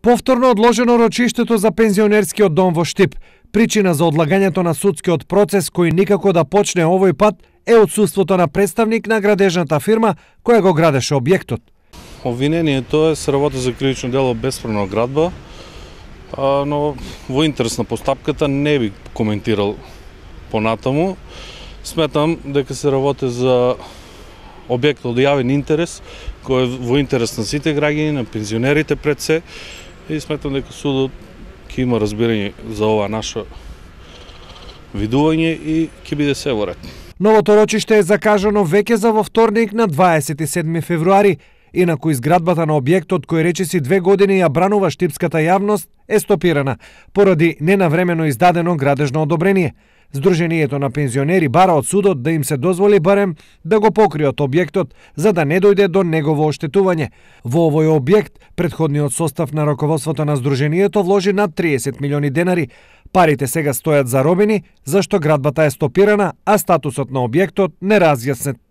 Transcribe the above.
Повторно одложено рочиштето за пензионерскиот дом во Штип. Причина за одлагањето на судскиот процес кој никако да почне овој пат е отсуството на представник на градежната фирма која го градеше објектот. Обвинението е се работи за кривично дело бесправна градба, но во интерес на постапката не би коментирал понатаму. Сметам дека се работи за објект од јавен интерес, кој е во интерес на сите граѓани, на пензионерите пред се, и сметам дека судот ќе има разбирање за ова наше видување и ќе биде се во ред. Новото рочиште е закажано веќе за во вторник на 27 февруари. Инаку изградбата на објектот кој речиси 2 години ја бранува штипската јавност е стопирана поради ненавремено издадено градежно одобрение. Сдруженијето на пензионери бара од судот да им се дозволи барем да го покријат објектот за да не дојде до негово оштетување. Во овој објект претходниот состав на раководството на сдруженијето вложи над 30 милиони денари. Парите сега стојат заробени, зашто градбата е стопирана, а статусот на објектот неразјаснет.